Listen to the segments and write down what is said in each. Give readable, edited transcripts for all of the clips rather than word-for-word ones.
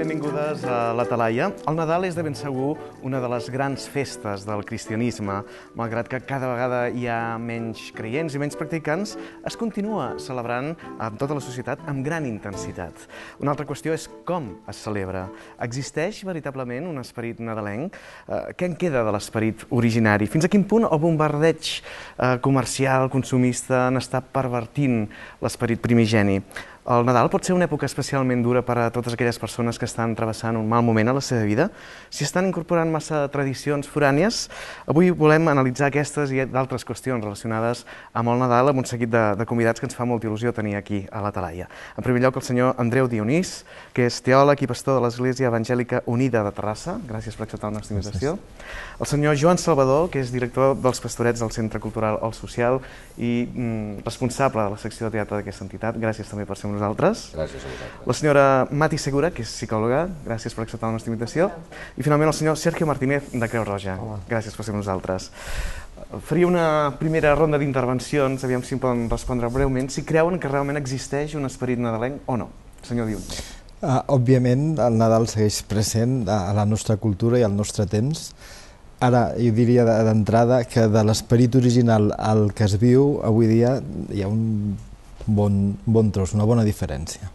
benvingudes a la Talaia. El Nadal és de ben segur una de les grans festes del cristianisme. Malgrat que cada vegada hi ha menys creients i menys practicants, es continua celebrant amb tota la societat amb gran intensitat. Una altra qüestió és com es celebra. Existeix veritablement un esperit nadalenc? Què en queda de l'esperit originari? Fins a quin punt el bombardeig comercial, consumista, n'està pervertint l'esperit primigeni? El Nadal pot ser una època especialment dura per a totes aquelles persones que estan travessant un mal moment a la seva vida? Si estan incorporant massa tradicions forànies, avui volem analitzar aquestes i d'altres qüestions relacionades amb el Nadal amb un seguit de convidats que ens fa molta il·lusió tenir aquí a la Talaia. En primer lloc, el senyor Andreu Dionís, que és teòleg i pastor de l'Església Evangèlica Unida de Terrassa. Gràcies per acceptar la nostra invitació. El senyor Joan Salvador, que és director dels Pastorets del Centre Cultural El Social i responsable de la secció de teatre d'aquesta entitat. Gràcies també per ser amb nosaltres. Gràcies a vosaltres. La senyora Mati Segura, que és psicòloga, gràcies per acceptar la nostra invitació. I finalment el senyor Sergio Martínez, de Creu Roja. Gràcies per ser amb nosaltres. Faria una primera ronda d'intervencions, aviam si em poden respondre breument, si creuen que realment existeix un esperit nadalenc o no. Senyor Dionís. Òbviament, el Nadal segueix present a la nostra cultura i al nostre temps. Ara, jo diria d'entrada que de l'esperit original al que es viu avui dia hi ha un bon tros, una bona diferència.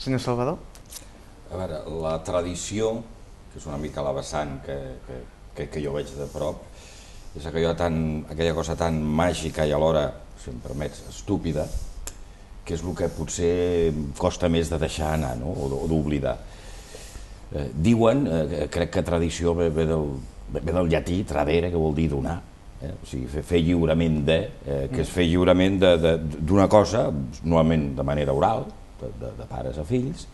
Senyor Salvador? A veure, la tradició, que és una mica la vessant que jo veig de prop, és aquella cosa tan màgica i alhora, si em permets, estúpida, que és el que potser costa més de deixar anar, no? O d'oblidar. Diuen, crec que tradició ve del llatí, tradere, que vol dir donar, o sigui, fer lliurament que és fer lliurament d'una cosa, normalment de manera oral, de pares a fills,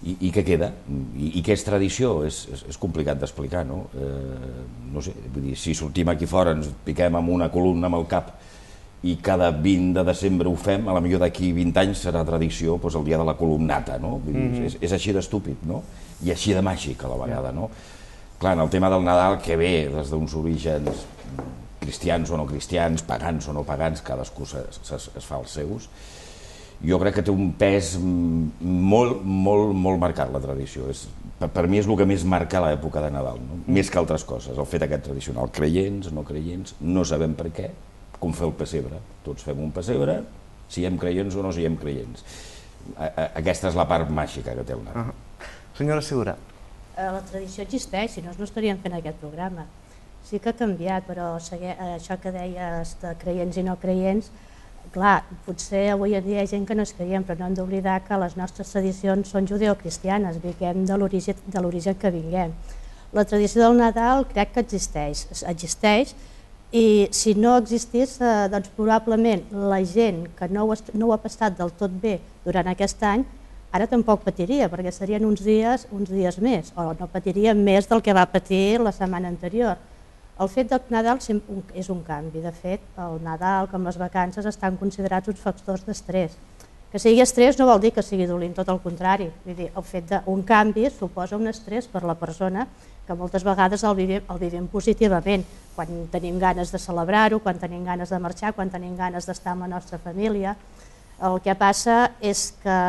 i què queda? I què és tradició? És complicat d'explicar, no? No sé, vull dir, si sortim aquí fora, ens piquem amb una columna amb el cap i cada 20 de desembre ho fem, a la millor d'aquí 20 anys serà tradició el dia de la columnata, no? És així d'estúpid, no? I així de màgic a la vegada, no? Clar, en el tema del Nadal, que ve des d'uns orígens cristians o no cristians, pagans o no pagans, cadascú es fa els seus, jo crec que té un pes molt marcat, la tradició. Per mi és el que més marca l'època de Nadal, més que altres coses, el fet aquest tradicional. Creients, no creients, no sabem per què, com fer el pessebre. Tots fem un pessebre, siguem creients o no siguem creients. Aquesta és la part màgica que té el Nadal. Senyora Segura. La tradició existeix, si no estaríem fent aquest programa. Sí que ha canviat, però això que deies de creients i no creients, clar, potser avui en dia hi ha gent que no és creient, però no hem d'oblidar que les nostres tradicions són judeocristianes, vinguem de l'origen que vinguem. La tradició del Nadal crec que existeix, i si no existís, doncs probablement la gent que no ho ha passat del tot bé durant aquest any, ara tampoc patiria, perquè serien uns dies més, o no patiria més del que va patir la setmana anterior. El fet del Nadal és un canvi. De fet, el Nadal, com les vacances, estan considerats uns factors d'estrès. Que sigui estrès no vol dir que sigui dolent, tot el contrari. Vull dir, el fet d'un canvi suposa un estrès per la persona que moltes vegades el vivim positivament, quan tenim ganes de celebrar-ho, quan tenim ganes de marxar, quan tenim ganes d'estar amb la nostra família. El que passa és que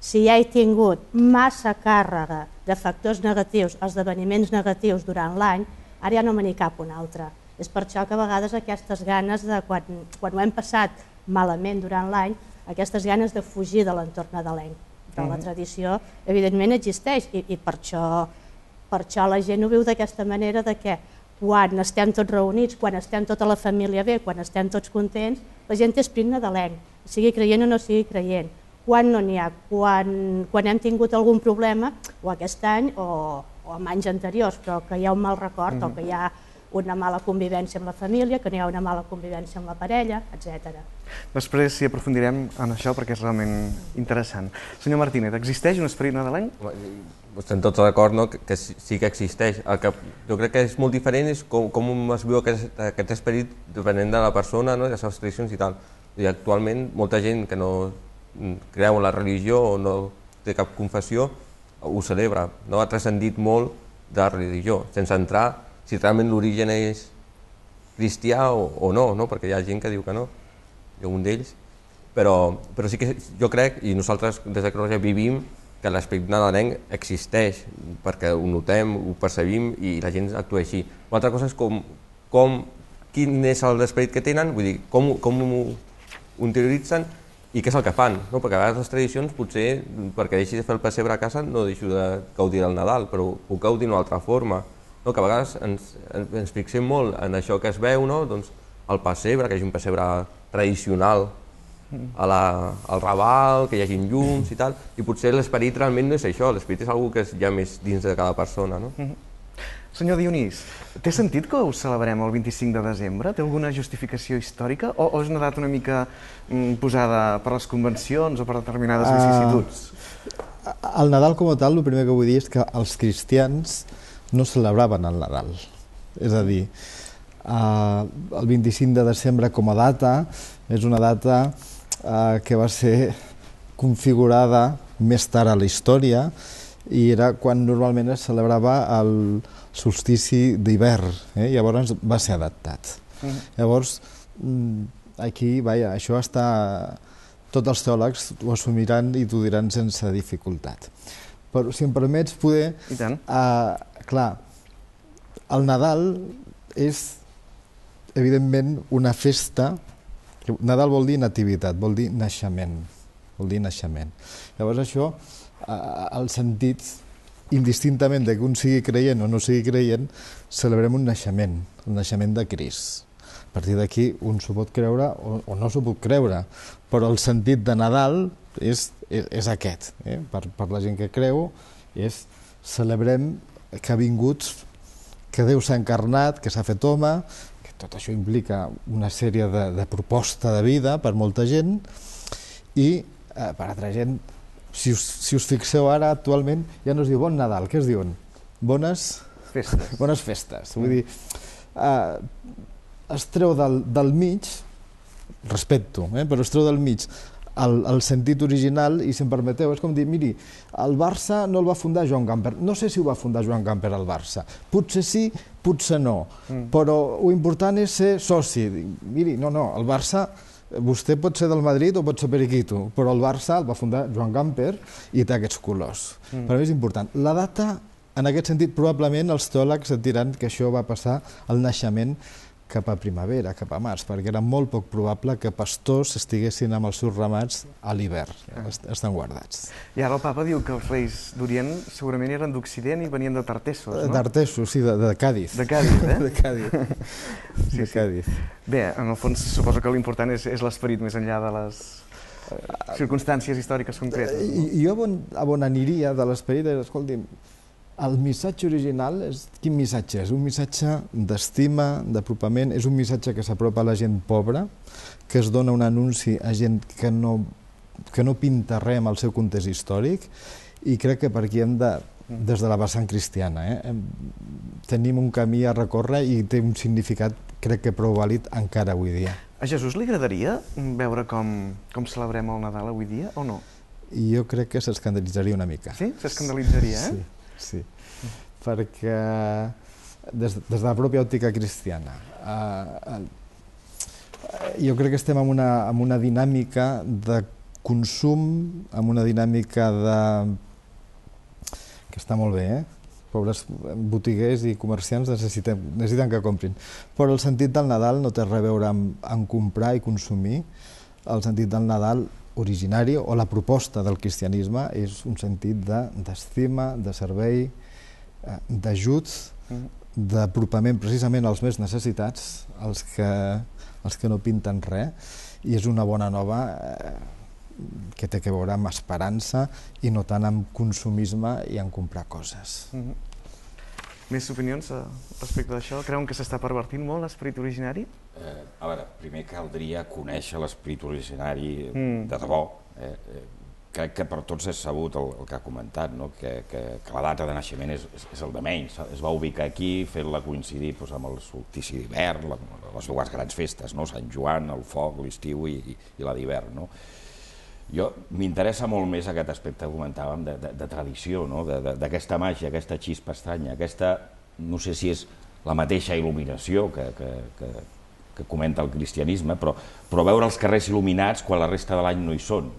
si ja he tingut massa càrrega de factors negatius, esdeveniments negatius durant l'any, ara ja no me n'hi cap un altre. És per això que a vegades aquestes ganes, quan ho hem passat malament durant l'any, aquestes ganes de fugir de l'entorn nadalenc. Però la tradició, evidentment, existeix i per això la gent ho viu d'aquesta manera, que quan estem tots reunits, quan estem tota la família bé, quan estem tots contents, la gent té esperit nadalenc, sigui creient o no sigui creient. Quan no n'hi ha, quan hem tingut algun problema, o aquest any o en anys anteriors, però que hi ha un mal record o que hi ha una mala convivència amb la família, que no hi ha una mala convivència amb la parella, etc. Després hi aprofundirem en això perquè és realment interessant. Senyor Martínez, existeix un esperit nadalenc? Estem tots d'acord que sí que existeix. El que jo crec que és molt diferent és com es viu aquest esperit depenent de la persona, de les seves tradicions i tal. I actualment molta gent que no creu en la religió o no té cap confessió ho celebra, ha transcendit molt de la religió, sense entrar si realment l'origen és cristià o no, perquè hi ha gent que diu que no, jo un d'ells, però sí que jo crec, i nosaltres des de Creu Roja vivim que l'esperit nadalenc existeix, perquè ho notem, ho percebim i la gent actua així. Una altra cosa és quin és l'esperit que tenen, vull dir, com ho interioritzen i què és el que fan, no? Perquè a vegades les tradicions, potser, perquè deixi de fer el pessebre a casa, no deixo de gaudir del Nadal, però puc gaudir d'una altra forma, no? Que a vegades ens fixem molt en això que es veu, no? Doncs el pessebre, que hi hagi un pessebre tradicional, al Raval, que hi hagi llums i tal, i potser l'esperit realment no és això, l'esperit és una cosa que hi ha més dins de cada persona, no? Senyor Dionís, té sentit que ho celebrem el 25 de desembre? Té alguna justificació històrica? O és una data una mica posada per les convencions o per determinades vicissituds? El Nadal com a tal, el primer que vull dir és que els cristians no celebraven el Nadal. És a dir, el 25 de desembre com a data és una data que va ser configurada més tard a la història i era quan normalment es celebrava el solstici d'hivern, llavors va ser adaptat. Llavors, aquí, això està... Tots els teòlegs ho assumiran i t'ho diran sense dificultat. Però, si em permets, poder... I tant. Clar, el Nadal és, evidentment, una festa. Nadal vol dir nativitat, vol dir naixement. Llavors, això, el sentit, indistintament de que un sigui creient o no sigui creient, celebrem un naixement, el naixement de Crist. A partir d'aquí un s'ho pot creure o no s'ho pot creure, però el sentit de Nadal és aquest. Per la gent que creu, celebrem que ha vingut, que Déu s'ha encarnat, que s'ha fet home, que tot això implica una sèrie de proposta de vida per molta gent, i per altra gent, si us fixeu ara, actualment, ja no es diu Bon Nadal, què es diuen? Bones festes. Vull dir, es treu del mig, respecto, però es treu del mig el sentit original i, si em permeteu, és com dir, miri, el Barça no el va fundar Joan Gamper. No sé si ho va fundar Joan Gamper al Barça. Potser sí, potser no. Però lo important és ser soci. Miri, no, el Barça, vostè pot ser del Madrid o pot ser periquito, però el Barça el va fundar Joan Gamper i té aquests colors. Per mi és important. La data, en aquest sentit, probablement els teòlegs et diran que això va passar al naixement cap a primavera, cap a març, perquè era molt poc probable que pastors estiguessin amb els seus ramats a l'hivern, estan guardats. I ara el papa diu que els reis d'Orient segurament eren d'Occident i venien de Tartessos, no? Tartessos, sí, de Càdiz. De Càdiz, De Càdiz. Sí. Bé, en el fons suposo que l'important és l'esperit més enllà de les circumstàncies històriques concretes. Jo on aniria de l'esperit és, escolti'm, el missatge original, quin missatge és? Un missatge d'estima, d'apropament, és un missatge que s'apropa a la gent pobra, que es dona un anunci a gent que no pinta res amb el seu context històric, i crec que per aquí hem de, des de la vessant cristiana, tenim un camí a recórrer i té un significat, crec que prou vàlid encara avui dia. A Jesús li agradaria veure com celebrem el Nadal avui dia o no? I jo crec que s'escandalitzaria una mica. Sí? S'escandalitzaria, Sí, perquè des de la pròpia òptica cristiana jo crec que estem en una dinàmica de consum, en una dinàmica que està molt bé, pobres botiguers i comerciants necessiten que comprin, però el sentit del Nadal no té res a veure amb comprar i consumir. El sentit del Nadal originari o la proposta del cristianisme és un sentit d'estima, de servei, d'ajut, d'apropament precisament als més necessitats, als que no pinten res, i és una bona nova que té a veure amb esperança i no tant amb consumisme i en comprar coses. Més opinions respecte d'això? Creuen que s'està pervertint molt l'esperit originari? A veure, primer caldria conèixer l'esperit originari de debò. Crec que per tots és sabut el que ha comentat, que la data de naixement és el de menys. Es va ubicar aquí fent-la coincidir amb el solstici d'hivern, les dues grans festes, Sant Joan, el foc, l'estiu i la d'hivern. Jo m'interessa molt més aquest aspecte que comentàvem de tradició, d'aquesta màgia, aquesta xispa estranya, aquesta, no sé si és la mateixa il·luminació que que comenta el cristianisme, però veure els carrers il·luminats quan la resta de l'any no hi són.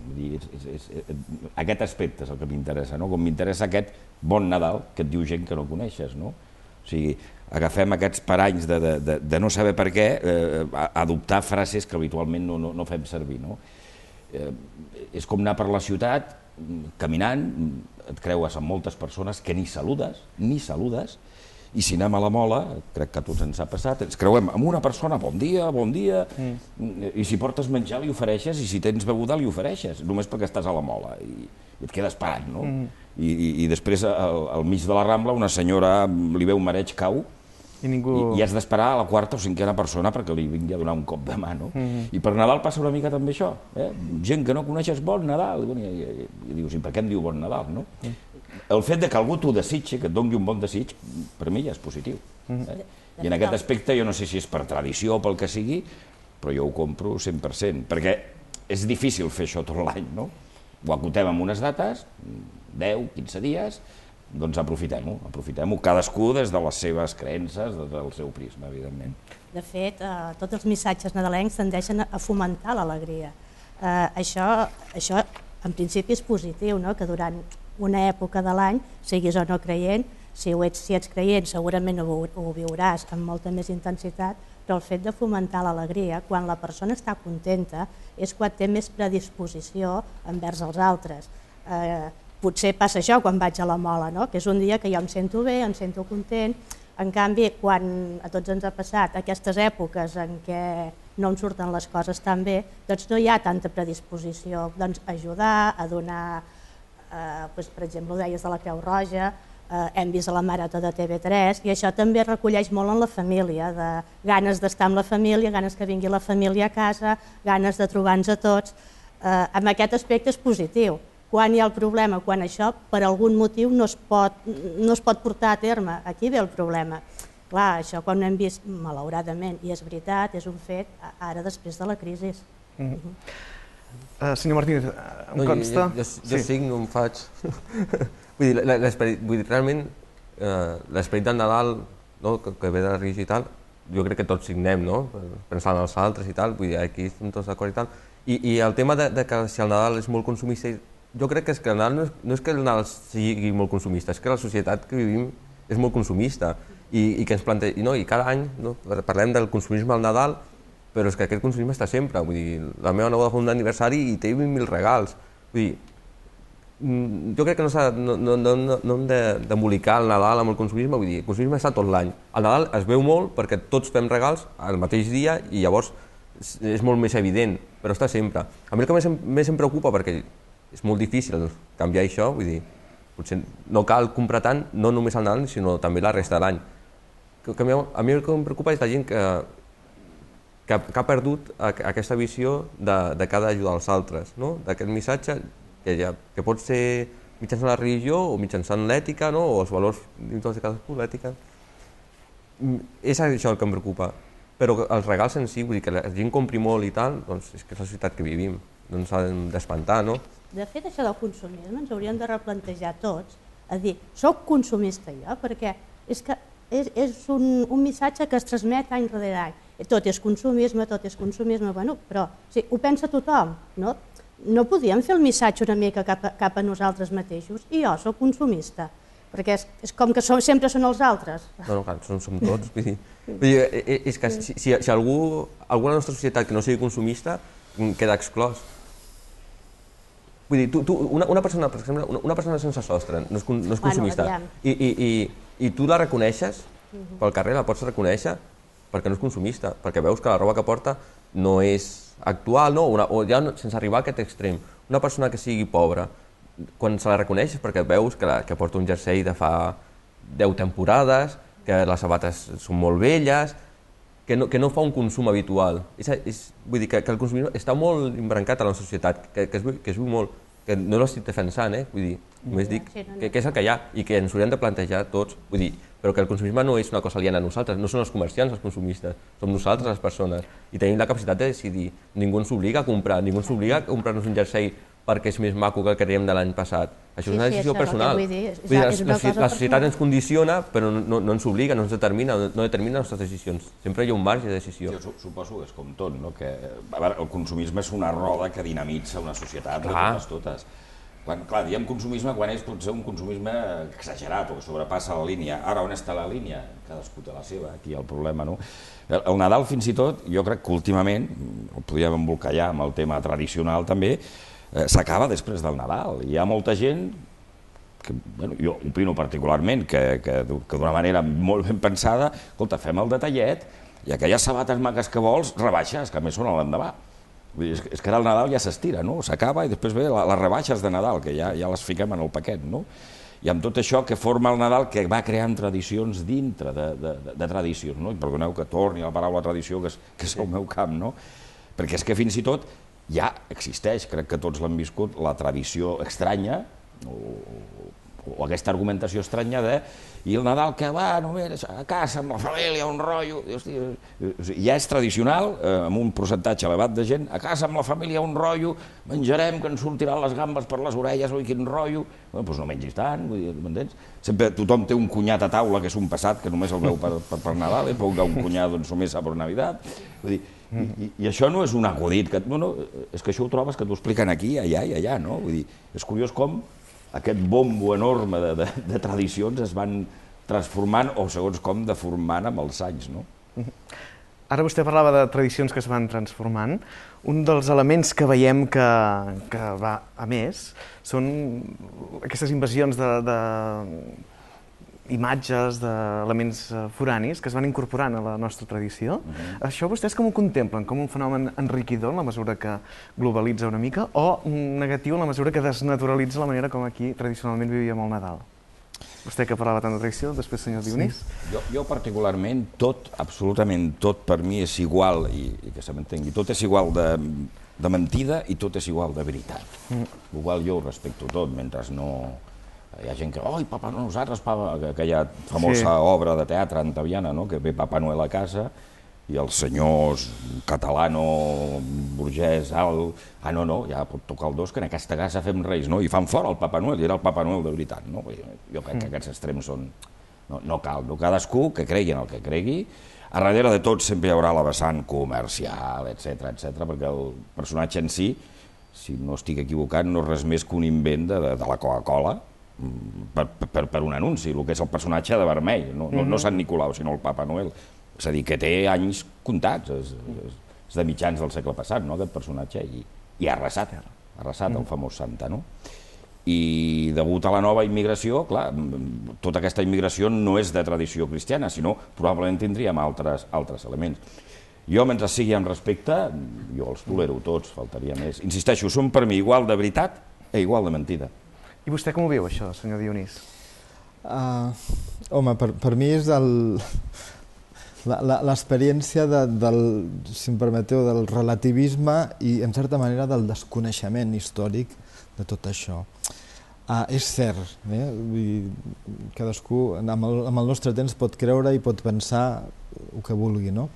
Aquest aspecte és el que m'interessa, com m'interessa aquest bon Nadal que et diu gent que no coneixes. O sigui, agafem aquests paranys de no saber per què, adoptar frases que habitualment no fem servir. És com anar per la ciutat, caminant, et creues amb moltes persones que ni saludes, i si anem a la Mola, crec que a tots ens ha passat, ens creuem amb una persona, bon dia, i si portes menjar li ofereixes, i si tens beguda li ofereixes, només perquè estàs a la Mola, i et quedes parant, no? I després, al mig de la Rambla, una senyora li veu un mareig cau, i has d'esperar a la quarta o cinquena persona perquè li vingui a donar un cop de mà, no? I per Nadal passa una mica també això, gent que no coneixes, bon Nadal, i dius, i per què em diu bon Nadal, no? El fet que algú t'ho desitgi, que et doni un bon desig, per mi ja és positiu. I en aquest aspecte jo no sé si és per tradició o pel que sigui, però jo ho compro 100%, perquè és difícil fer això tot l'any, no? Ho acotem amb unes dates, 10, 15 dies, doncs aprofitem-ho, cadascú des de les seves creences, des del seu prisma, evidentment. De fet, tots els missatges nadalencs tendeixen a fomentar l'alegria. Això, en principi, és positiu, que durant una època de l'any, siguis o no creient, si ets creient segurament ho viuràs amb molta més intensitat, però el fet de fomentar l'alegria, quan la persona està contenta, és quan té més predisposició envers els altres. Potser passa això quan vaig a la Mola, que és un dia que jo em sento bé, em sento content. En canvi, quan a tots ens ha passat aquestes èpoques en què no em surten les coses tan bé, doncs no hi ha tanta predisposició a ajudar, a donar, per exemple, ho deies de la Creu Roja, hem vist a la Marató de TV3, i això també recolleix molt en la família, de ganes d'estar amb la família, ganes que vingui la família a casa, ganes de trobar-nos a tots. En aquest aspecte és positiu. Quan hi ha el problema, quan això per algun motiu no es pot portar a terme, aquí ve el problema. Clar, això quan ho hem vist malauradament, i és veritat, és un fet, ara després de la crisi. Senyor Martínez, em consta... Jo signo, em faig... Vull dir, realment, l'esperit del Nadal, que ve de la religió i tal, jo crec que tots signem, pensant en els altres i tal, vull dir, aquí estem tots d'acord i tal. I el tema de que si el Nadal és molt consumista, jo crec que el Nadal no és que el Nadal sigui molt consumista, és que la societat que vivim és molt consumista i que ens plantegem, i cada any parlem del consumisme al Nadal, però és que aquest consumisme està sempre, vull dir, la meva neboda fa un aniversari i té 20.000 regals, vull dir, jo crec que no hem d'embolicar el Nadal amb el consumisme, vull dir, el consumisme està tot l'any, el Nadal es veu molt perquè tots fem regals al mateix dia i llavors és molt més evident, però està sempre. A mi el que més em preocupa, perquè és molt difícil canviar això, vull dir, potser no cal comprar tant, no només al Nadal, sinó també la resta de l'any. A mi el que em preocupa és la gent que ha perdut aquesta visió de que ha d'ajudar els altres, d'aquest missatge que pot ser mitjançant la religió o mitjançant l'ètica o els valors dins de cadascú, l'ètica. És això el que em preocupa, però els regals en si, vull dir que la gent compri molt i tal, doncs és que és la societat que vivim, no ens hem d'espantar, no? De fet, això del consumisme ens hauríem de replantejar tots, a dir, soc consumista jo, perquè és que és un missatge que es transmet any rere any. Tot és consumisme, bueno, però ho pensa tothom, no? No podíem fer el missatge una mica cap a nosaltres mateixos, i jo soc consumista, perquè és com que sempre són els altres. No, clar, som tots, vull dir, és que si algú a la nostra societat que no sigui consumista queda exclòs. Vull dir, una persona, per exemple, una persona sense sostre no és consumista i tu la reconeixes pel carrer, la pots reconèixer perquè no és consumista, perquè veus que la roba que porta no és actual, o ja sense arribar a aquest extrem. Una persona que sigui pobra, quan se la reconeixes perquè veus que porta un jersei de fa 10 temporades, que les sabates són molt velles, que no fa un consum habitual. Vull dir que el consumisme està molt embrancat a la societat, que es viu molt, que no l'estic defensant, vull dir, només dic que és el que hi ha i que ens hauríem de plantejar tots, vull dir, però que el consumisme no és una cosa aliena a nosaltres, no són els comerciants els consumistes, som nosaltres les persones i tenim la capacitat de decidir. Ningú ens obliga a comprar, ningú ens obliga a comprar-nos un jersei perquè és més maco que el que teníem de l'any passat. Això és una decisió personal. La societat ens condiciona, però no ens obliga, no ens determina, no determina les nostres decisions. Sempre hi ha un marge de decisió. Jo suposo que és com tot, que el consumisme és una roda que dinamitza una societat de totes. Clar, diem consumisme quan és potser un consumisme exagerat o que sobrepassa la línia. Ara, on està la línia? Cadascú té la seva, aquí hi ha el problema, no? El Nadal, fins i tot, jo crec que últimament, el podríem embolcallar amb el tema tradicional també, s'acaba després del Nadal. Hi ha molta gent, jo opino particularment, que d'una manera molt ben pensada, escolta, fem el detallet i aquelles sabates maques que vols, rebaixes, que a més són a l'endemà. És que ara el Nadal ja s'estira, s'acaba i després ve les rebaixes de Nadal, que ja les fiquem en el paquet. I amb tot això que forma el Nadal, que va creant tradicions dintre de tradicions. I perdoneu que torni a la paraula tradició, que és el meu camp, perquè és que fins i tot ja existeix, crec que tots l'han viscut, la tradició estranya, o aquesta argumentació estranya de i el Nadal que va només a casa amb la família, un rotllo, ja és tradicional, amb un percentatge elevat de gent, a casa amb la família un rotllo, menjarem que ens sortiran les gambes per les orelles, oi quin rotllo, doncs no mengis tant, m'entens? Sempre tothom té un cunyat a taula que és un passat, que només el veu per Nadal, però un cunyat doncs només a per Navidad, vull dir, i això no és un acudit, és que això ho trobes que t'ho expliquen aquí, allà i allà, no? Vull dir, és curiós com aquest bombo enorme de tradicions es van transformant o segons com deformant amb els anys, no? Ara vostè parlava de tradicions que es van transformant. Un dels elements que veiem que va a més són aquestes invasions d'imatges, d'elements foranis que es van incorporant a la nostra tradició. Això vostès com ho contemplen? Com un fenomen enriquidor en la mesura que globalitza una mica o negatiu en la mesura que desnaturalitza la manera com aquí tradicionalment vivíem el Nadal? Vostè que parlava tant de tradició, després senyor Dionís. Jo particularment tot, absolutament tot per mi és igual, i que se m'entengui, tot és igual de mentida i tot és igual de veritat. Igual jo ho respecto tot, mentre no... Hi ha gent que, oi, Papa Noel, nosaltres, aquella famosa obra de teatre antaviana, que ve Papa Noel a casa i els senyors catalano, burgès, alt, no, ja pot tocar el dos, que en aquesta casa fem reis, i fan fora el Papa Noel, i era el Papa Noel de veritat. Jo crec que aquests extrems són... No cal, cadascú que cregui en el que cregui. A darrere de tot sempre hi haurà la vessant comercial, etc, perquè el personatge en si, si no estic equivocat, no és res més que un invent de la Coca-Cola, per un anunci, el que és el personatge de vermell, no Sant Nicolau, sinó el Papa Noel. És a dir, que té anys comptats, és de mitjans del segle passat, aquest personatge, i ha arrasat el famós Santa, no? I degut a la nova immigració, clar, tota aquesta immigració no és de tradició cristiana, sinó probablement tindríem altres elements. Jo, mentre sigui amb respecte, jo els tolero tots, faltaria més. Insisteixo, són per mi igual de veritat i igual de mentida. I vostè com ho viu, això, senyor Dionís? Home, per mi és l'experiència si em permeteu, del relativisme i, en certa manera, del desconeixement històric de tot això. És cert, cadascú amb el nostre temps pot creure i pot pensar el que vulgui, no?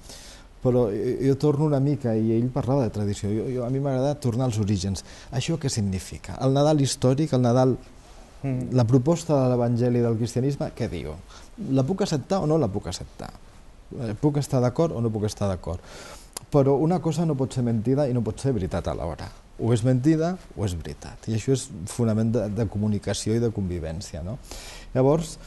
Però jo torno una mica, i ell parlava de tradició, a mi m'agrada tornar als orígens. Això què significa? El Nadal històric, el Nadal, la proposta de l'Evangeli del cristianisme, què diu? La puc acceptar o no la puc acceptar? Puc estar d'acord o no puc estar d'acord? Però una cosa no pot ser mentida i no pot ser veritat alhora. O és mentida o és veritat. I això és fonament de comunicació i de convivència. Llavors,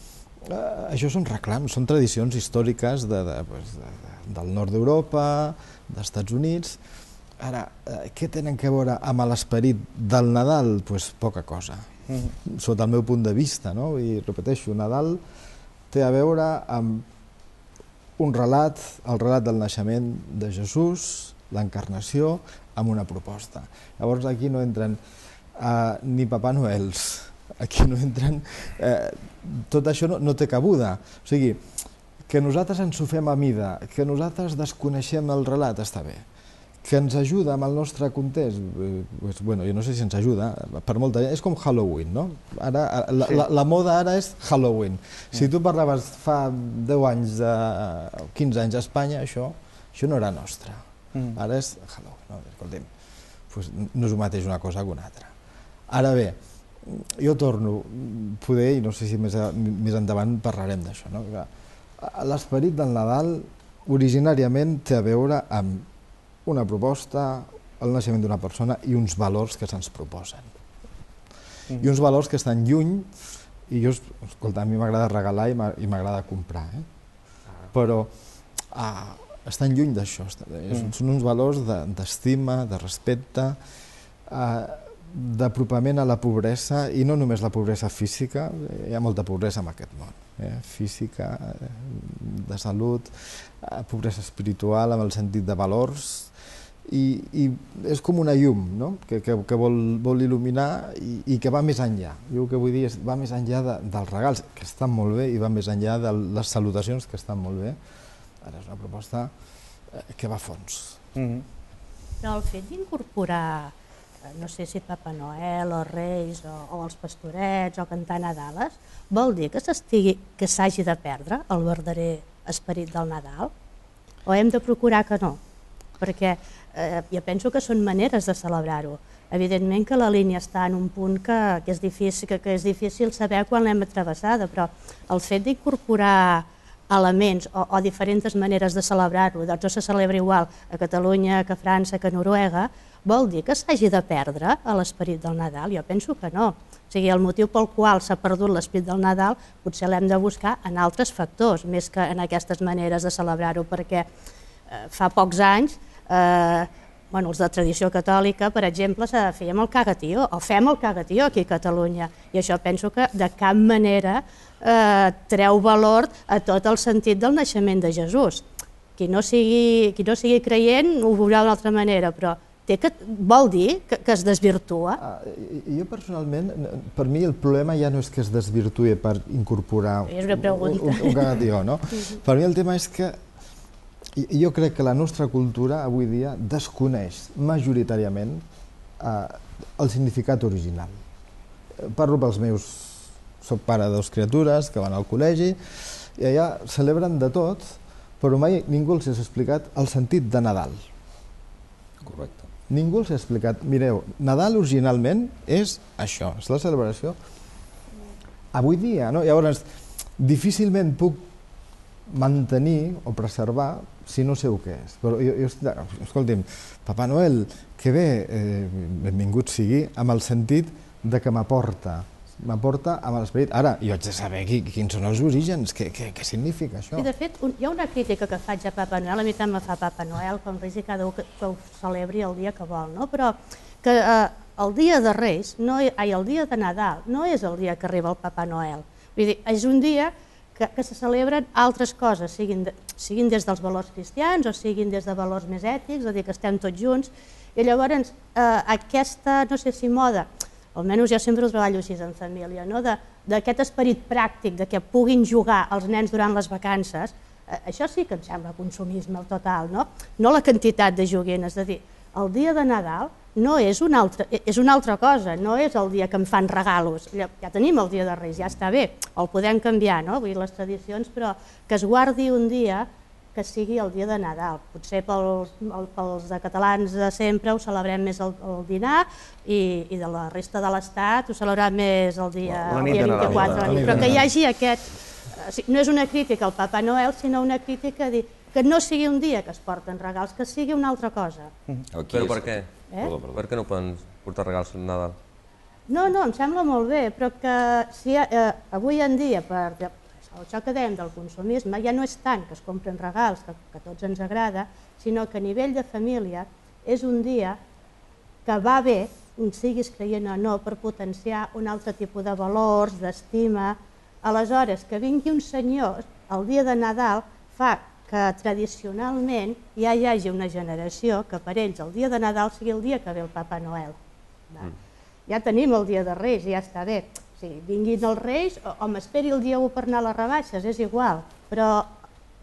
això són reclams, són tradicions històriques del nord d'Europa, dels Estats Units. Ara, què tenen a veure amb l'esperit del Nadal? Doncs poca cosa, sota el meu punt de vista. I repeteixo, Nadal té a veure amb un relat, el relat del naixement de Jesús, l'encarnació, amb una proposta. Llavors aquí no entren ni Papa Noels, aquí no entren... Tot això no té cabuda. O sigui, que nosaltres ens ho fem a mida, que nosaltres desconeixem el relat, està bé. Que ens ajuda amb el nostre context, bueno, jo no sé si ens ajuda, per molta gent, és com Halloween, no? La moda ara és Halloween. Si tu parlaves fa 10 anys, 15 anys a Espanya, això no era nostre. Ara és Halloween, no? Escolta'm, no és el mateix una cosa que una altra. Ara bé, jo torno, poder, i no sé si més endavant parlarem d'això, no? L'esperit del Nadal originàriament té a veure amb una proposta, el naixement d'una persona i uns valors que se'ns proposen. I uns valors que estan lluny, i jo, escolta, a mi m'agrada regalar i m'agrada comprar, però estan lluny d'això. Són uns valors d'estima, de respecte, d'apropament a la pobresa, i no només la pobresa física, hi ha molta pobresa en aquest món, física, de salut, pobresa espiritual, amb el sentit de valors, i és com una llum que vol il·luminar i que va més enllà. Jo el que vull dir és va més enllà dels regals, que estan molt bé, i va més enllà de les salutacions, que estan molt bé. Ara és una proposta que va a fons. Però el fet d'incorporar, no sé si Papa Noel o Reis o els pastorets o cantar Nadales, vol dir que s'hagi de perdre el verdader esperit del Nadal? O hem de procurar que no? Perquè jo penso que són maneres de celebrar-ho. Evidentment que la línia està en un punt que és difícil saber quan l'hem travessada, però el fet d'incorporar elements o diferents maneres de celebrar-ho, doncs no se celebra igual a Catalunya que a França que a Noruega, vol dir que s'hagi de perdre l'esperit del Nadal? Jo penso que no. O sigui, el motiu pel qual s'ha perdut l'esperit del Nadal potser l'hem de buscar en altres factors, més que en aquestes maneres de celebrar-ho, perquè fa pocs anys els de tradició catòlica, per exemple, fèiem el cagatió, o fem el cagatió aquí a Catalunya, i això penso que de cap manera treu valor a tot el sentit del naixement de Jesús. Qui no sigui creient ho veurà d'una altra manera, però vol dir que es desvirtua? Jo personalment, per mi el problema ja no és que es desvirtui per incorporar un cagatió, no? Per mi el tema és que jo crec que la nostra cultura avui dia desconeix majoritàriament el significat original. Parlo pels meus... Soc pare de 2 criatures que van al col·legi i allà celebren de tot, però mai ningú els ha explicat el sentit de Nadal. Correcte. Ningú els ha explicat, mireu, Nadal originalment és això, és la celebració. Avui dia, no? Llavors, difícilment puc mantenir o preservar si no sé què és. Però escolti'm, Papa Noel, que bé, benvingut sigui, amb el sentit de que m'aporta amb l'esperit. Ara, jo haig de saber quins són els orígens, què significa això. I de fet, hi ha una crítica que faig a Papa Noel, a mi tant me fa Papa Noel, com Reis, i cada un que ho celebri el dia que vol, no? Però que el dia de Reis, el dia de Nadal, no és el dia que arriba el Papa Noel. Vull dir, és un dia que se celebren altres coses, siguin des dels valors cristians o siguin des de valors més ètics, és a dir, que estem tots junts, i llavors aquesta, no sé si moda, almenys jo sempre ho treballo així en família, d'aquest esperit pràctic, de que puguin jugar els nens durant les vacances, això sí que em sembla consumisme total, no la quantitat de joguines, és a dir, el dia de Nadal és una altra cosa, no és el dia que em fan regalos, ja tenim el dia de Reis, ja està bé, el podem canviar, vull dir, les tradicions, però que es guardi un dia que sigui el dia de Nadal. Potser pels de catalans de sempre ho celebrem més el dinar i de la resta de l'Estat ho celebrem més el dia 24, però que hi hagi aquest... No és una crítica al Papa Noel, sinó una crítica a dir que no sigui un dia que es porten regals, que sigui una altra cosa. Però per què? Per què no poden portar regals al Nadal? No, em sembla molt bé, però que si avui en dia, per això que dèiem del consumisme, ja no és tant que es compren regals, que a tots ens agrada, sinó que a nivell de família és un dia que va bé, siguis creient o no, per potenciar un altre tipus de valors, d'estima. Aleshores, que vingui un senyor el dia de Nadal fa que tradicionalment ja hi hagi una generació que per ells el dia de Nadal sigui el dia que ve el Papa Noel. Ja tenim el dia de Reis, ja està bé. Vinguin els Reis o m'esperi el dia 1 per anar a les rebaixes, és igual. Però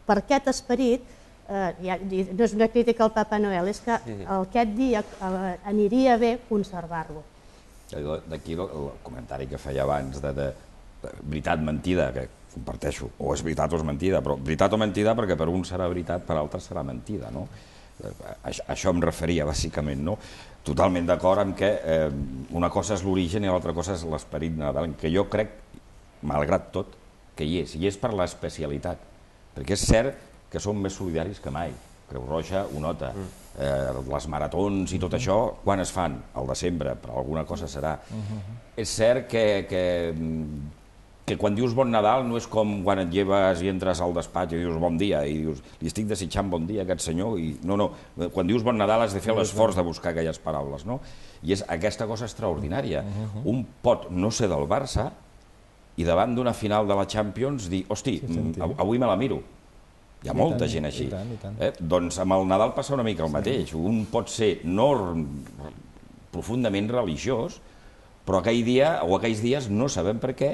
per aquest esperit, no és una crítica al Papa Noel, és que aquest dia aniria bé conservar-lo. D'aquí el comentari que feia abans de veritat-mentida, que comparteixo, o és veritat o és mentida, però veritat o mentida perquè per un serà veritat, per altres serà mentida, no? Això em referia, bàsicament, no? Totalment d'acord amb que una cosa és l'origen i l'altra cosa és l'esperit Nadal, que jo crec, malgrat tot, que hi és per l'especialitat, perquè és cert que som més solidaris que mai. Creu Roja ho nota. Les maratons i tot això, quan es fan? Al desembre, però alguna cosa serà. És cert que quan dius bon Nadal no és com quan et lleves i entres al despatx i dius bon dia i dius li estic desitjant bon dia a aquest senyor i no, quan dius bon Nadal has de fer l'esforç de buscar aquelles paraules, no? I és aquesta cosa extraordinària. Un pot no ser del Barça i davant d'una final de la Champions dir, hosti, avui me la miro. Hi ha molta gent així. Doncs amb el Nadal passa una mica el mateix. Un pot ser no profundament religiós, però aquell dia o aquells dies no sabem per què,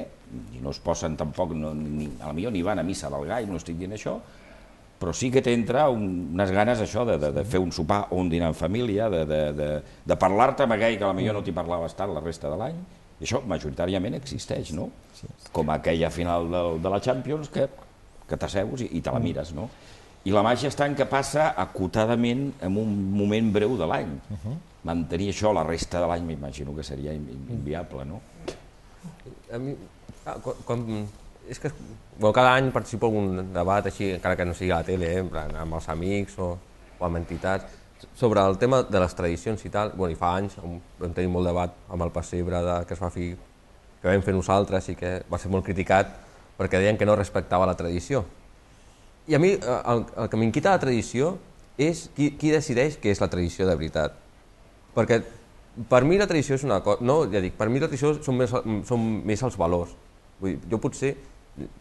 i no es posen tampoc, potser ni van a missa del gall, no estic dient això, però sí que t'entra unes ganes això de fer un sopar o un dinar en família, de parlar-te amb aquell que potser no t'hi parlaves tant la resta de l'any, i això majoritàriament existeix, no? Com aquella final de la Champions que t'asseus i te la mires, no? I la màgia està en que passa acotadament en un moment breu de l'any. Mantenir això la resta de l'any m'imagino que seria inviable, no? A mi, és que cada any participo en un debat així, encara que no sigui a la tele, amb els amics o amb entitats, sobre el tema de les tradicions i tal. I fa anys vam tenir molt debat amb el pessebre que es va fer, que vam fer nosaltres i que va ser molt criticat perquè deien que no respectava la tradició. I a mi el que m'inquieta la tradició és qui decideix què és la tradició de veritat. Perquè per mi la tradició és una cosa, no, ja dic, per mi la tradició són més els valors. Vull dir,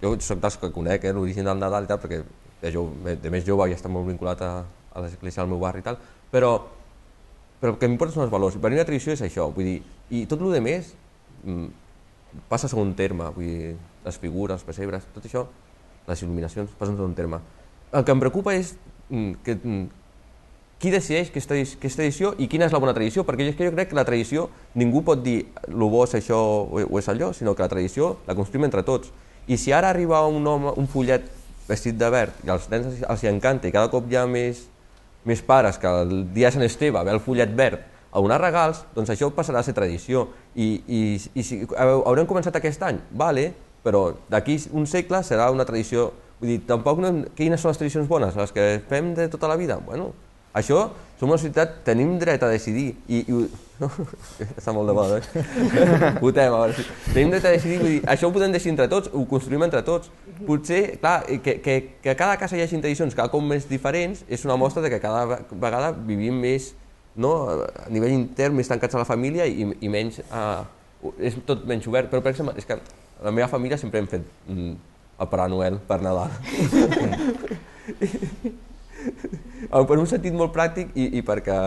jo soc dels que conec l'origen del Nadal i tal, perquè de més jove ja està molt vinculat a l'església del meu barri i tal, però el que m'importa són els valors. Per mi la tradició és això, vull dir, i tot el que més passa a segon terme, vull dir, les figures, els pessebres, tot això, les il·luminacions, passen a segon terme. El que em preocupa és qui decideix què és tradició i quina és la bona tradició, perquè jo crec que la tradició ningú pot dir el bo és això o és allò, sinó que la tradició la construïm entre tots. I si ara arriba un home, un follet vestit de verd i als nens els encanta i cada cop hi ha més pares que el dia de Sant Esteve ve el follet verd a donar regals, doncs això passarà a ser tradició. I si haurem començat aquest any, vale, però d'aquí un segle serà una tradició. Vull dir, tampoc quines són les tradicions bones? Les que fem de tota la vida? Bueno, això, som una societat, tenim dret a decidir, està molt de moda, votem, a veure si... Tenim dret a decidir, vull dir, això ho podem decidir entre tots, ho construïm entre tots. Potser, clar, que a cada casa hi hagi tradicions cada cop més diferents és una mostra que cada vegada vivim més, a nivell intern, més tancats a la família i menys, és tot menys obert. Però, per exemple, és que a la meva família sempre hem fet el Pare Noel per Nadal. Per un sentit molt pràctic i perquè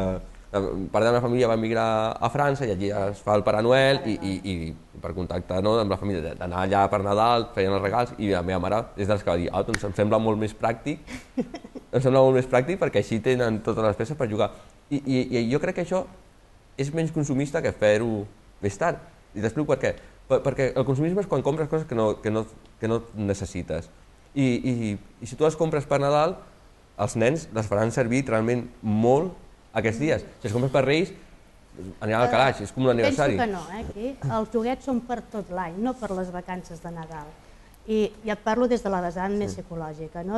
part de la meva família va emigrar a França i allí es fa el Pare Noel i per contacte amb la família, d'anar allà per Nadal, feien els regals i la meva mare és dels que va dir doncs em sembla molt més pràctic perquè així tenen totes les peces per jugar. I jo crec que això és menys consumista que fer-ho més tard. I t'explico per què. Perquè el consumisme és quan compres coses que no necessites. I si tu les compres per Nadal, els nens les faran servir realment molt aquests dies. Si les compres per Reis, aniran al calaix, és com un aniversari. Penso que no, aquí els joguets són per tot l'any, no per les vacances de Nadal. I ja et parlo des de la vessant més psicològica, no?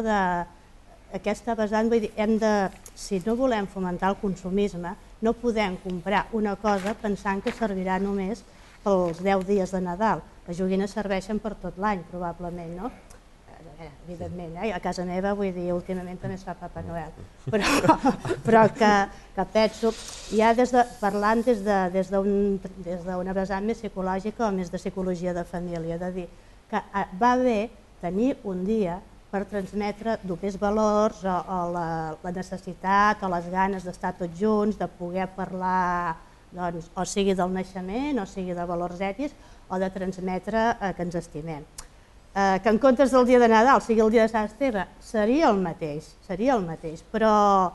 Aquesta vessant, vull dir, si no volem fomentar el consumisme, no podem comprar una cosa pensant que servirà només pels 10 dies de Nadal. Les joguines serveixen per tot l'any, probablement, no? Evidentment, a casa meva, vull dir, últimament també es fa Papa Noel, però que penso, ja parlant des d'una vessant més psicològica o més de psicologia de família, de dir que va bé tenir un dia per transmetre dupes valors o la necessitat o les ganes d'estar tots junts, de poder parlar, o sigui del naixement, o sigui de valors ètics, o de transmetre que ens estimem. Que en comptes del dia de Nadal sigui el dia de Sant Esteve, seria el mateix, però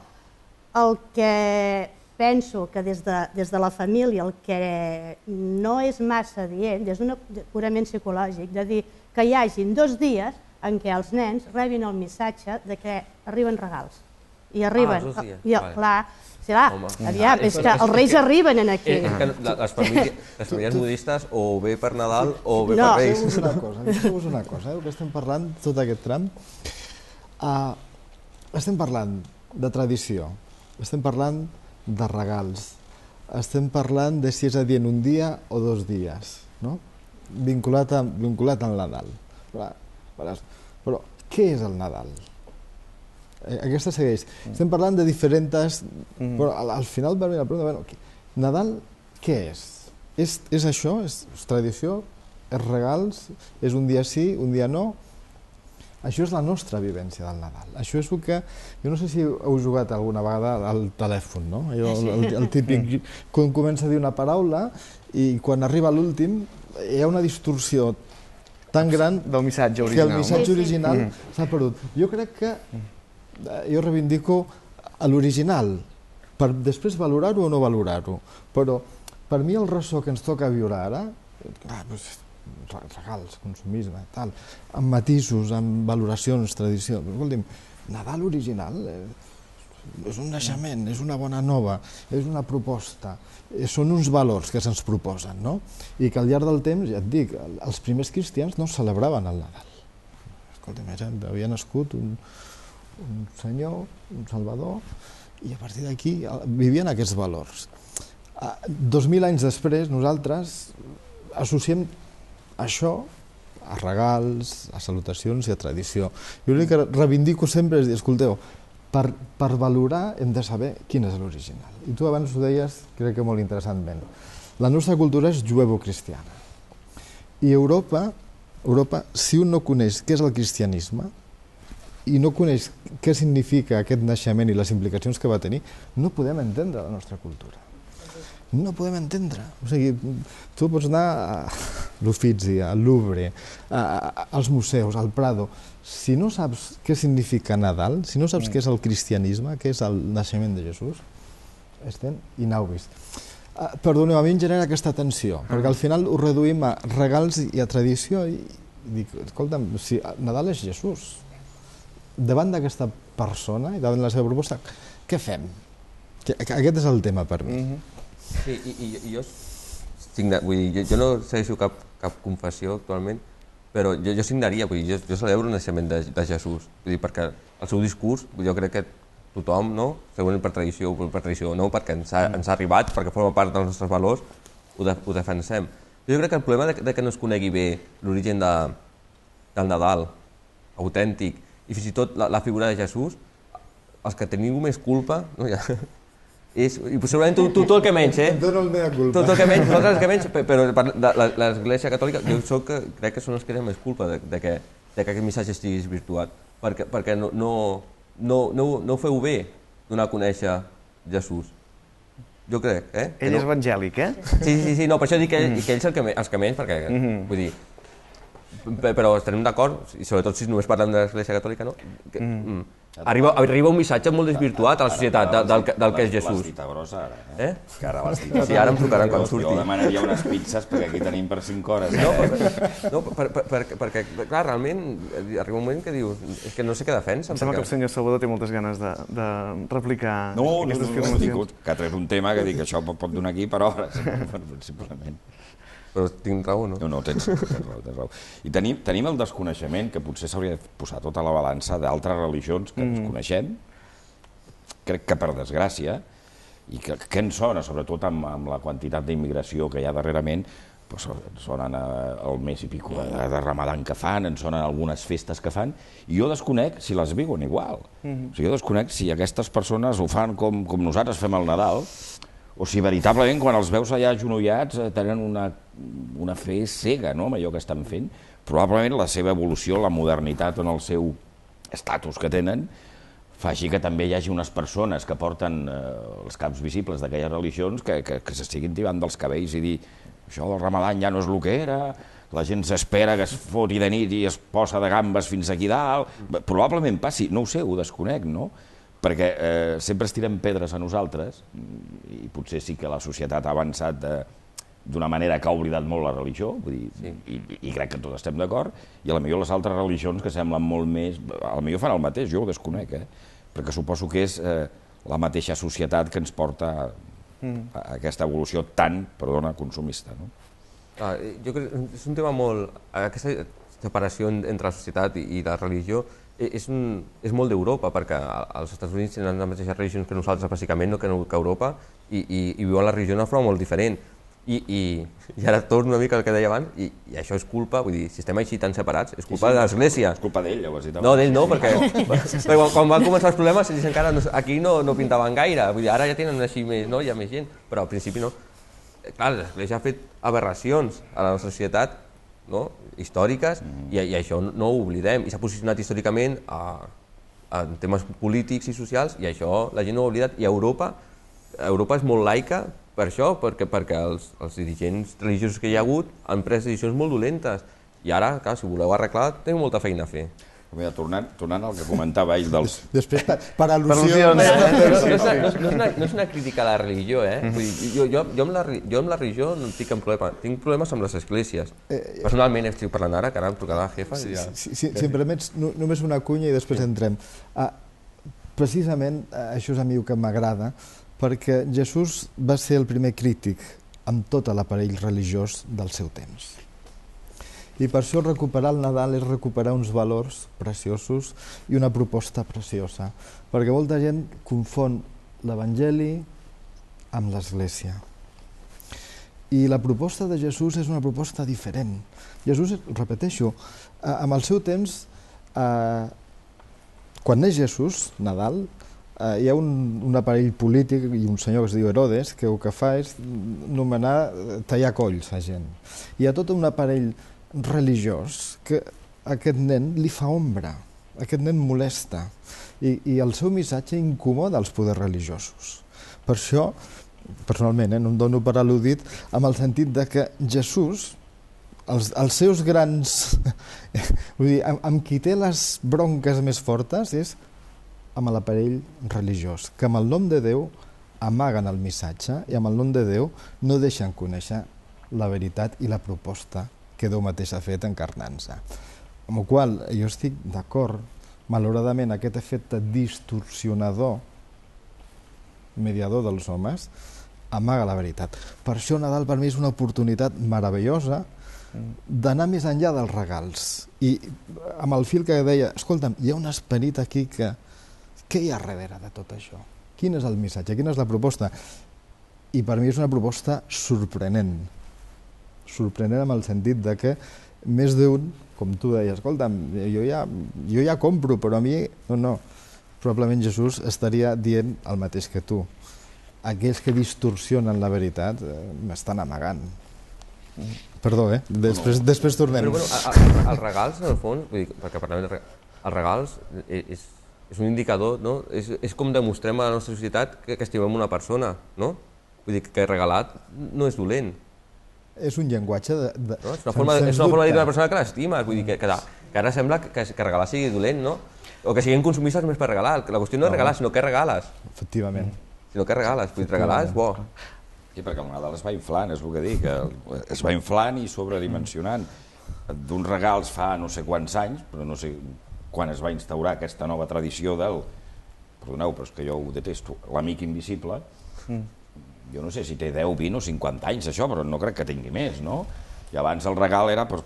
el que penso que des de la família el que no és massa dient, des d'un purament psicològic, de dir que hi hagin 2 dies en què els nens rebin el missatge de que arriben regals. i arriben. els 2 dies, vale. Clar, sí, aviam, és que els Reis arriben aquí. És que les famílies modistes o bé per Nadal o bé per No. Reis. Deixeu-vos una cosa, que estem parlant tot aquest tram. Estem parlant de tradició, estem parlant de regals, estem parlant de si és adient un dia o 2 dies, no? Vinculat al Nadal. Però què és el Nadal? Aquesta segueix. Estem parlant de diferents... Però al final va venir la pregunta, bueno, Nadal què és? És això? És tradició? És regals? És un dia sí, un dia no? Això és la nostra vivència del Nadal. Això és el que... Jo no sé si heu jugat alguna vegada al telèfon, no? El típic... Quan comença a dir una paraula i quan arriba a l'últim hi ha una distorsió tan gran del missatge original. Que el missatge original s'ha perdut. Jo crec que... Jo reivindico l'original, per després valorar-ho o no valorar-ho. Però per mi el ressò que ens toca viure ara, regals, consumisme, tal, amb matisos, amb valoracions, tradició... Escolti'm, Nadal original és un naixement, és una bona nova, és una proposta, són uns valors que se'ns proposen, no? I que al llarg del temps, ja et dic, els primers cristians no celebraven el Nadal. Escolta'm, havia nascut un senyor, un salvador, i a partir d'aquí vivien aquests valors. 2000 anys després, nosaltres associem això a regals, a salutacions i a tradició. Jo el que reivindico sempre és dir, escolteu, per valorar hem de saber quin és l'original. I tu abans ho deies, crec que molt interessantment. La nostra cultura és juevo-cristiana. I Europa, si un no coneix què és el cristianisme, i no coneix què significa aquest naixement i les implicacions que va tenir, no podem entendre la nostra cultura. No podem entendre. O sigui, tu pots anar a l'Uffizi, al Louvre, als museus, al Prado. Si no saps què significa Nadal, si no saps què és el cristianisme, què és el naixement de Jesús, estem inaubis. Perdoneu, a mi em genera aquesta tensió, perquè al final ho reduïm a regals i a tradició i dic, escolta'm, si Nadal és Jesús, davant d'aquesta persona i davant la seva proposta, què fem? Aquest és el tema per mi. Sí, i jo no segueixo cap confessió actualment, però jo signaria, jo celebro el naixement de Jesús, perquè el seu discurs, jo crec que tothom, segurament per tradició o no, perquè ens ha arribat, perquè forma part dels nostres valors, ho defensem. Jo crec que el problema de que no es conegui bé l'origen del Nadal, autèntic, i fins i tot la figura de Jesús, els que teniu més culpa, és, i segurament tu el que menys, Et dono el mea culpa. Tu el que menys, nosaltres el que menys, però l'Església Catòlica, jo crec que són els que tenen més culpa de que aquest missatge estigui desvirtuat, perquè no ho feu bé donar a conèixer Jesús. Jo crec, Ell és evangèlic, Sí, no, per això dic que ells els que menys, perquè, vull dir, però estarem d'acord, i sobretot si només parlem de l'Església Catòlica, no? Arriba un missatge molt desvirtuat a la societat del que és Jesús. L'has dit a grossa ara, Que ara l'has dit a grossa. Sí, ara em trucaran quan surti. Jo demanaria unes pizzas perquè aquí tenim per 5 hores. No, perquè, clar, realment arriba un moment que dius, és que no sé què defensa. Em sembla que el senyor Salvador té moltes ganes de replicar aquestes afirmacions. Que ha tret un tema que dic que això pot donar aquí per hores, simplement. Però tinc raó, no? No, tens raó. I tenim el desconeixement, que potser s'hauria de posar tota la balança d'altres religions que desconeixem, crec que per desgràcia, i que en sona, sobretot amb la quantitat d'immigració que hi ha darrerament, sonen el mes i pico de Ramadan que fan, en sonen algunes festes que fan, i jo desconec si les viuen igual. O sigui, jo desconec si aquestes persones ho fan com nosaltres fem el Nadal, o si veritablement quan els veus allà agenollats tenen una fe cega amb allò que estan fent. Probablement la seva evolució, la modernitat en el seu estatus que tenen, fa així que també hi hagi unes persones que porten els caps visibles d'aquelles religions que s'estiguin tibant dels cabells i dir això del Ramadan ja no és el que era, la gent s'espera que es foti de nit i es posa de gambes fins aquí dalt. Probablement passi, no ho sé, ho desconec, no? Perquè sempre es tiren pedres a nosaltres i potser sí que la societat ha avançat d'una manera que ha oblidat molt la religió, i crec que tots estem d'acord, i potser les altres religions que semblen molt més... Potser fan el mateix, jo ho desconec, perquè suposo que és la mateixa societat que ens porta a aquesta evolució tan, perdona, consumista. Jo crec que és un tema molt... Aquesta separació entre la societat i la religió és molt d'Europa, perquè als Estats Units tenen les mateixes religions que nosaltres, bàsicament, que Europa, i viuen la religió d'una forma molt diferent. I ara torno una mica al que deia abans, i això és culpa, vull dir, si estem així tan separats, és culpa de l'Església. És culpa d'ell, ja ho has dit abans. No, d'ell no, perquè quan van començar els problemes, ells encara aquí no pintaven gaire, vull dir, ara ja tenen així més, no? Hi ha més gent, però al principi no. Clar, l'Església ha fet aberracions a la nostra societat, històriques, i això no ho oblidem, i s'ha posicionat històricament en temes polítics i socials, i això la gent no ho ha oblidat, i Europa és molt laica per això, perquè els dirigents religiosos que hi ha hagut han pres decisions molt dolentes, i ara, clar, si voleu arreglar, teniu molta feina a fer. Mira, tornant al que comentava ell dels... Després, per al·lusions... No és una crítica a la religió, Vull dir, jo amb la religió no tinc cap problema. Tinc problemes amb les esglésies. Personalment estic parlant ara, que ara em trucarà la jefa i ja... Si em permets, només una cunya i després entrem. Precisament això és a mi el que m'agrada, perquè Jesús va ser el primer crític amb tot l'aparell religiós del seu temps. I per això recuperar el Nadal és recuperar uns valors preciosos i una proposta preciosa, perquè molta gent confon l'Evangeli amb l'Església. I la proposta de Jesús és una proposta diferent. Jesús, repeteixo, amb el seu temps, quan neix Jesús, Nadal, hi ha un aparell polític i un senyor que es diu Herodes que el que fa és nomenar tallar colls a gent. Hi ha tot un aparell religiós que aquest nen li fa ombra, aquest nen molesta i el seu missatge incomoda els poders religiosos. Per això, personalment, no em dono per al·ludit amb el sentit de que Jesús, els seus grans... Vull dir, amb qui té les bronques més fortes és amb l'aparell religiós, que amb el nom de Déu amaguen el missatge i amb el nom de Déu no deixen conèixer la veritat i la proposta que Déu mateix ha fet encarnant-se. Amb la qual jo estic d'acord, malauradament aquest efecte distorsionador, mediador dels homes, amaga la veritat. Per això Nadal per mi és una oportunitat meravellosa d'anar més enllà dels regals. I amb el fil que deia, escolta'm, hi ha un esperit aquí que... Què hi ha darrere de tot això? Quin és el missatge? Quina és la proposta? I per mi és una proposta sorprenent. Sorprenent amb el sentit de que més d'un, com tu deies, escolta'm, jo ja compro, però a mi no. Probablement Jesús estaria dient el mateix que tu. Aquells que distorsionen la veritat m'estan amagant. Perdó, després tornem. Però bueno, els regals, en el fons, vull dir, perquè parlem de regals, els regals és un indicador, no? És com demostrem a la nostra societat que estimem una persona, no? Vull dir que regalat no és dolent. És un llenguatge de... És una forma de dir una persona que l'estimes, vull dir que ara sembla que regalar sigui dolent, no? O que siguin consumistes més per regalar. La qüestió no és regalar, sinó què regales. Efectivament. Sinó què regales, vull dir, regalar és bo. Sí, perquè el Nadal es va inflant, és el que dic, es va inflant i sobredimensionant. D'uns regals fa no sé quants anys, però no sé quan es va instaurar aquesta nova tradició del... Perdoneu, però és que jo ho detesto, l'amic invisible. Jo no sé si té 10, 20 o 50 anys això, però no crec que tingui més, no? I abans el regal era per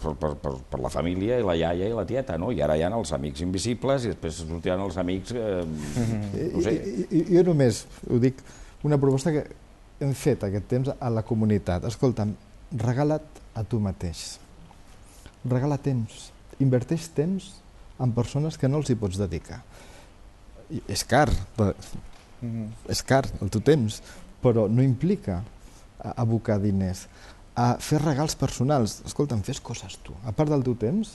la família i la iaia i la tieta, no? I ara hi ha els amics invisibles i després sortiran els amics... no sé. Jo només ho dic, una proposta que hem fet aquest temps a la comunitat. Escolta'm, regala't a tu mateix. Regala temps. Inverteix temps en persones que no els hi pots dedicar. És car, el teu temps, però no implica abocar diners. A fer regals personals. Escolta'm, fes coses tu. A part del teu temps,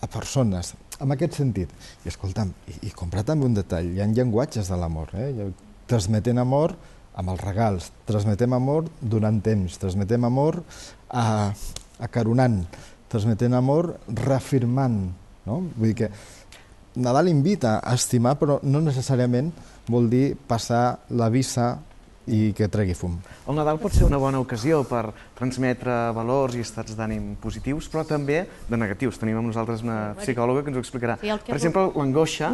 a persones. En aquest sentit. I escolta'm, i comprar també un detall. Hi ha llenguatges de l'amor. Transmetent amor amb els regals. Transmetem amor donant temps. Transmetem amor acaronant. Transmetent amor reafirmant. Vull dir que Nadal invita a estimar, però no necessàriament vol dir passar la visa i que tregui fum. El Nadal pot ser una bona ocasió per transmetre valors i estats d'ànim positius, però també de negatius. Tenim amb nosaltres una psicòloga que ens ho explicarà. Per exemple, l'angoixa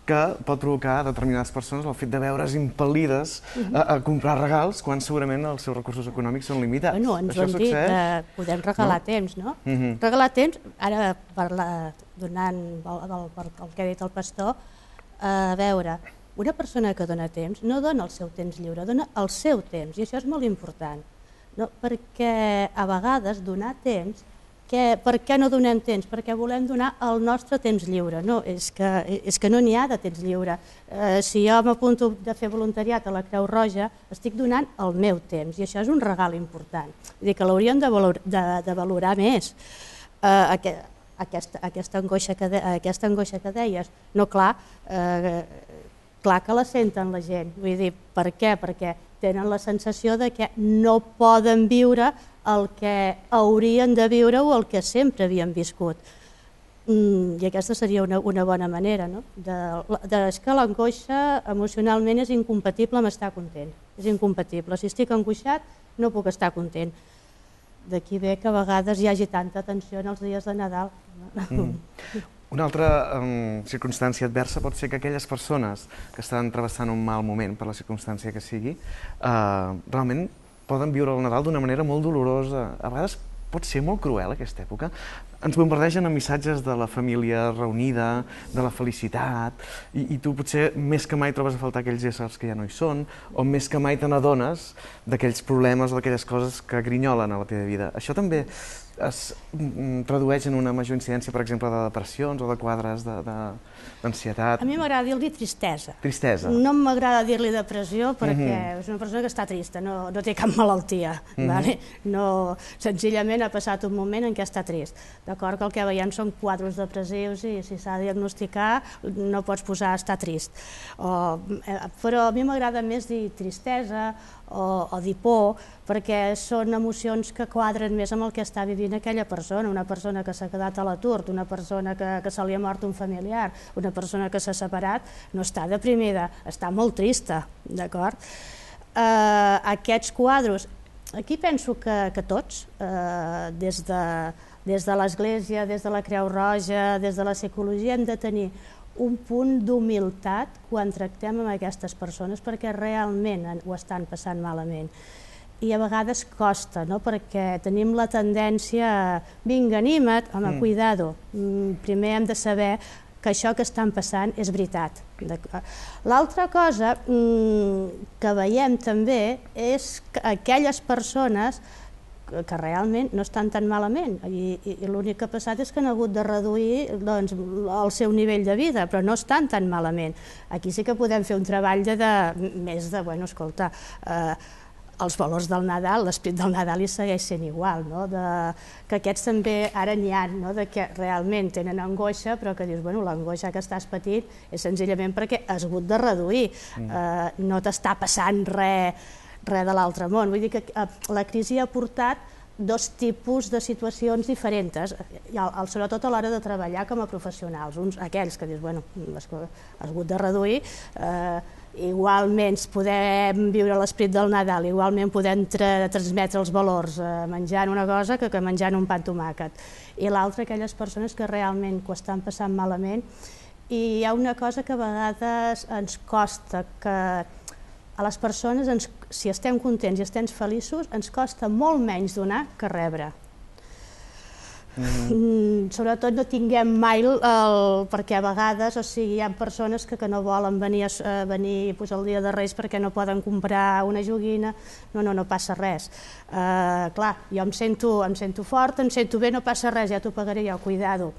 que pot provocar a determinades persones el fet de veure's impel·lides a comprar regals quan segurament els seus recursos econòmics són limitats. Bueno, ens ho hem dit, podem regalar temps, no? Regalar temps, ara donant el que ha dit el pastor, a veure, una persona que dona temps no dona el seu temps lliure, dona el seu temps, i això és molt important, perquè a vegades donar temps, per què no donem temps? Perquè volem donar el nostre temps lliure. No, és que no n'hi ha de temps lliure. Si jo m'apunto de fer voluntariat a la Creu Roja, estic donant el meu temps i això és un regal important. Vull dir que l'hauríem de valorar més. Aquesta angoixa que deies, no, clar que la senten la gent. Vull dir, per què? Perquè tenen la sensació de que no poden viure el que haurien de viure o el que sempre havien viscut. I aquesta seria una bona manera, no? És que l'angoixa emocionalment és incompatible amb estar content. És incompatible. Si estic angoixat, no puc estar content. D'aquí ve que a vegades hi hagi tanta tensió en els dies de Nadal. Una altra circumstància adversa pot ser que aquelles persones que estan travessant un mal moment per la circumstància que sigui, realment poden viure el Nadal d'una manera molt dolorosa. A vegades pot ser molt cruel aquesta època. Ens bombardegen amb missatges de la família reunida, de la felicitat, i tu potser més que mai trobes a faltar aquells éssers que ja no hi són, o més que mai te n'adones d'aquells problemes o d'aquelles coses que grinyolen a la teva vida. Això també es tradueix en una major incidència, per exemple, de depressions o de quadres d'ansietat. A mi m'agrada dir-li tristesa. Tristesa. No m'agrada dir-li depressió perquè és una persona que està trista, no té cap malaltia. Senzillament ha passat un moment en què està trist. D'acord que el que veiem són quadros depressius i si s'ha de diagnosticar no pots posar estar trist. Però a mi m'agrada més dir tristesa o dir por, perquè són emocions que quadren més amb el que està vivint aquella persona, una persona que s'ha quedat a l'atur, una persona que se li ha mort un familiar, una persona que s'ha separat, no està deprimida, està molt trista, d'acord? Aquests quadros, aquí penso que tots, des de l'Església, des de la Creu Roja, des de la psicologia, hem de tenir un punt d'humilitat quan tractem amb aquestes persones perquè realment ho estan passant malament. I a vegades costa, perquè tenim la tendència a vinga, anima't, home, cuidado, primer hem de saber que això que estan passant és veritat. L'altra cosa que veiem també és que aquelles persones que realment no estan tan malament i l'únic que ha passat és que han hagut de reduir el seu nivell de vida, però no estan tan malament. Aquí sí que podem fer un treball més de, bueno, escolta, els valors del Nadal, l'esperit del Nadal hi segueix sent igual, que aquests també ara n'hi ha, que realment tenen angoixa, però que dius, bueno, l'angoixa que estàs patint és senzillament perquè has hagut de reduir, no t'està passant res de l'altre món. Vull dir que la crisi ha portat dos tipus de situacions diferents, sobretot a l'hora de treballar com a professionals. Uns, aquells que dius, bueno, has hagut de reduir, igualment podem viure l'esperit del Nadal, igualment podem transmetre els valors menjant una cosa que menjant un pa amb tomàquet. I l'altra, aquelles persones que realment ho estan passant malament. I hi ha una cosa que a vegades ens costa, que a les persones, si estem contents i estem feliços, ens costa molt menys donar que rebre. Sobretot no tinguem mai perquè a vegades hi ha persones que no volen venir el dia de Reis perquè no poden comprar una joguina. No passa res. Clar, jo em sento fort, em sento bé, no passa res, ja t'ho pagaré jo, cuidado.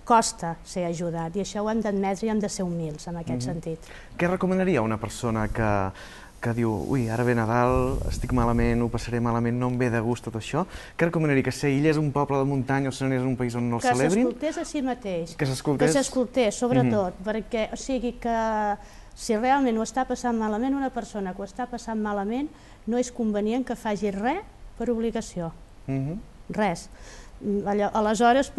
Costa ser ajudat i això ho hem d'admetre i hem de ser humils en aquest sentit. Què recomanaria una persona que diu, ui, ara ve Nadal, estic malament, ho passaré malament, no em ve de gust tot això? Què recomanaria? Que s'aïllés un poble de muntanya o s'anés a un país on no el celebrin? Que s'escoltés a si mateix. Que s'escoltés? Que s'escoltés, sobretot, perquè, o sigui que si realment ho està passant malament, una persona que ho està passant malament, no és convenient que faci res per obligació. Res. Aleshores,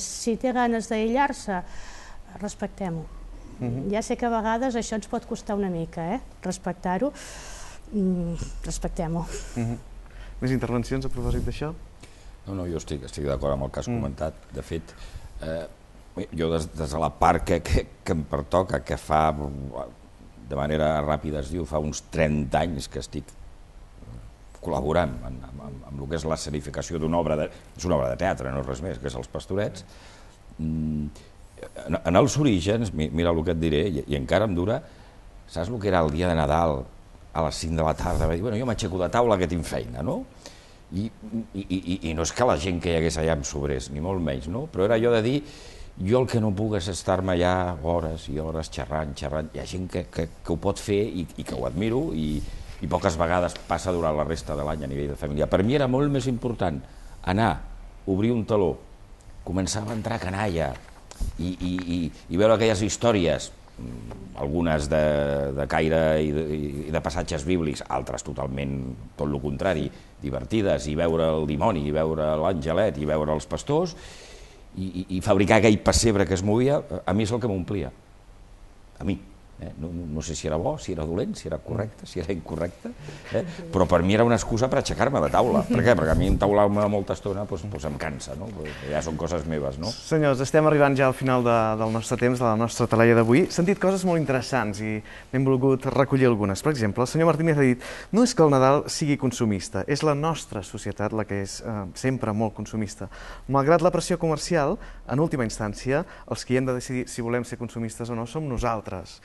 si té ganes d'aïllar-se, respectem-ho. Ja sé que a vegades això ens pot costar una mica, respectar-ho, respectem-ho. Més intervencions a propòsit d'això? No, jo estic d'acord amb el que has comentat. De fet, Jo des de la part que em pertoca, que fa, de manera ràpida es diu, fa uns 30 anys que estic col·laborant amb el que és l'escenificació d'una obra, és una obra de teatre, no és res més, que és Els Pastorets. En els orígens, mira el que et diré, i encara em dura, saps el que era el dia de Nadal a les 5 de la tarda? Va dir, bueno, jo m'aixeco de taula que tinc feina, no? I no és que la gent que hi hagués allà em sobrés, ni molt menys, no? Però era allò de dir, jo el que no puc és estar-me allà hores i hores xerrant. Hi ha gent que ho pot fer i que ho admiro i poques vegades passa durant la resta de l'any a nivell de família. Per mi era molt més important anar, obrir un taló, començar a entrar canalla i veure aquelles històries, algunes de caire i de passatges bíblics, altres totalment tot el contrari, divertides, i veure el dimoni, i veure l'angelet, i veure els pastors, i fabricar aquell pessebre que es movia, a mi és el que m'omplia. A mi. No sé si era bo, si era dolent, si era correcte, si era incorrecte, però per mi era una excusa per aixecar-me de taula. Per què? Perquè a mi entaular-me molta estona em cansa, ja són coses meves. Senyors, estem arribant ja al final del nostre temps, de la nostra talaia d'avui. He sentit coses molt interessants i n'hem volgut recollir algunes. Per exemple, el senyor Martínez ha dit, no és que el Nadal sigui consumista, és la nostra societat la que és sempre molt consumista. Malgrat la pressió comercial, en última instància, els qui hem de decidir si volem ser consumistes o no som nosaltres.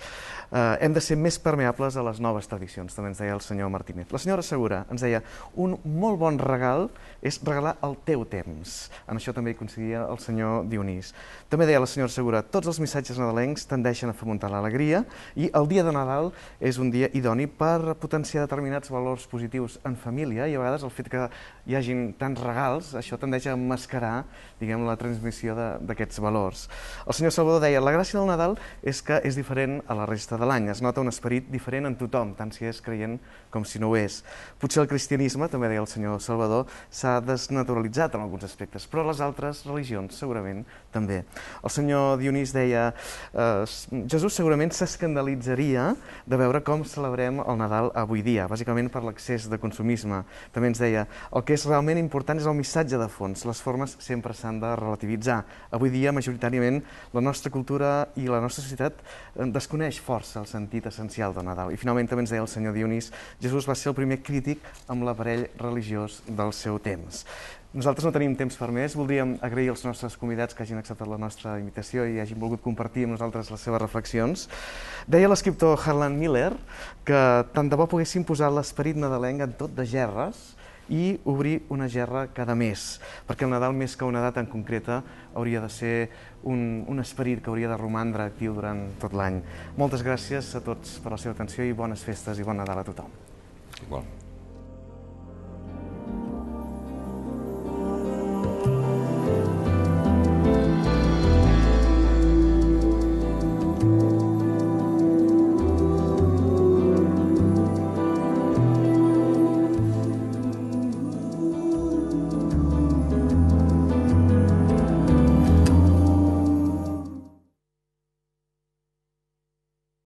Hem de ser més permeables a les noves tradicions, també ens deia el senyor Martínez. La senyora Segura ens deia, un molt bon regal és regalar el teu temps. En això també hi coincidia el senyor Dionís. També deia la senyora Segura, tots els missatges nadalencs tendeixen a fomentar l'alegria i el dia de Nadal és un dia idoni per potenciar determinats valors positius en família i a vegades el fet que hi hagin tants regals, això tendeix a emmascarar, diguem, la transmissió d'aquests valors. El senyor Salvador deia, la gràcia del Nadal és que és diferent a la resta de l'any, es nota un esperit diferent en tothom, tant si és creient com si no ho és. Potser el cristianisme, també deia el senyor Salvador, s'ha desnaturalitzat en alguns aspectes, però les altres religions segurament també. El senyor Dionís deia, Jesús segurament s'escandalitzaria de veure com celebrem el Nadal avui dia, bàsicament per l'excés de consumisme. També ens deia, el que és realment important és el missatge de fons, les formes sempre s'han de relativitzar. Avui dia, majoritàriament, la nostra cultura i la nostra societat desconeix força el sentit essencial del Nadal. I finalment també ens deia el senyor Dionís, Jesús va ser el primer crític amb l'aparell religiós del seu temps. Nosaltres no tenim temps per més, voldríem agrair als nostres convidats que hagin acceptat la nostra invitació i hagin volgut compartir amb nosaltres les seves reflexions. Deia l'escriptor Harlan Miller que tant de bo poguéssim posar l'esperit nadalenc en tot de gerres i obrir una gerra cada mes, perquè el Nadal, més que una data en concreta, hauria de ser un esperit que hauria de romandre actiu durant tot l'any. Moltes gràcies a tots per la seva atenció i bones festes i bon Nadal a tothom. Igual.